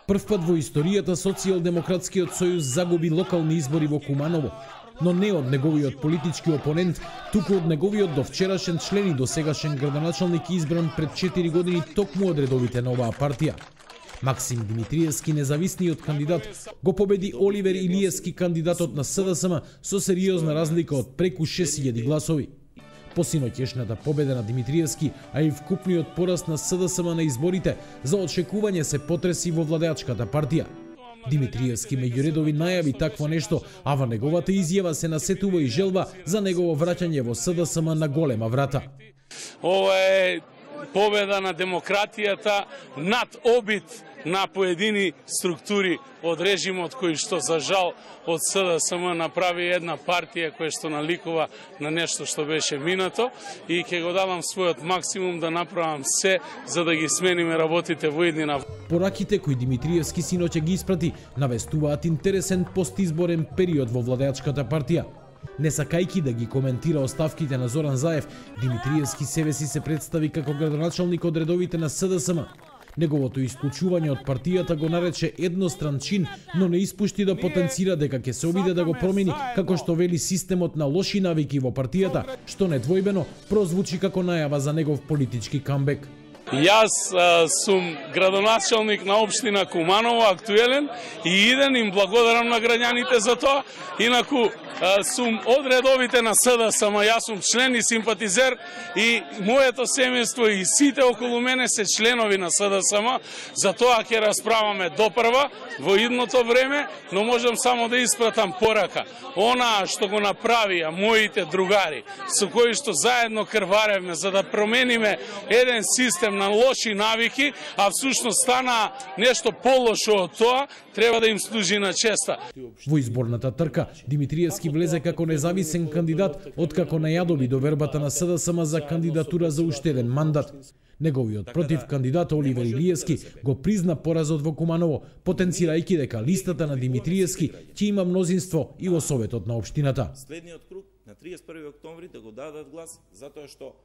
Првпат во историјата Социјалдемократскиот сојуз загуби локални избори во Куманово, но не од неговиот политички опонент, туку од неговиот довчерашен член и досегашен градоначалник избран пред 4 години токму од редовите на оваа партија. Максим Димитриевски, независниот кандидат, го победи Оливер Илиевски, кандидатот на СДСМ, со сериозна разлика од преку 6000 гласови. Посиноќешната победа на Димитриевски, а и вкупниот пораст на СДСМ на изборите, за очекување се потреси во владеачката партија. Димитриевски меѓу редови најави такво нешто, а во неговата изјава се насетува и желба за негово враќање во СДСМ на голема врата. Ова е победа на демократијата над обид на поедини структури од режимот кој што за жал од СДСМ направи една партија која што наликува на нешто што беше минато и ќе го дадам својот максимум да направам се за да ги смениме работите во иднина. Пораките кои Димитриевски синоќа ги испрати навестуваат интересен постизборен период во владеачката партија. Не сакајки да ги коментира оставките на Зоран Заев, Димитриевски себеси се представи како градоначалник од редовите на СДСМ. Неговото исклучување од партијата го нарече едностран чин, но не испушти да потенцира дека ќе се обиде да го промени, како што вели системот на лоши навики во партијата, што недвојбено прозвучи како најава за негов политички камбек. Јас сум градоначалник на општина Куманово, актуелен, и иден им благодарам на граѓаните за тоа. Инаку сум од редовите на СДСМ, јас сум член и симпатизер и моето семејство и сите околу мене се членови на СДСМ, за тоа ќе расправаме допрва во идното време, но можам само да испратам порака. Она што го направија моите другари, со кои што заедно крваревме за да промениме еден систем на лоши навики, а всушност стана нешто полошо од тоа, треба да им служи на честа. Во изборната трка, Димитриевски влезе како независен кандидат, откако најадоби довербата на СДСМ за кандидатура за уште еден мандат. Неговиот против кандидат Оливер Илиевски го призна поразот во Куманово, потенцирајќи дека листата на Димитриевски ќе има мнозинство и во Советот на општината. Следниот круг на 31 октомври да го дадат глас, затоа што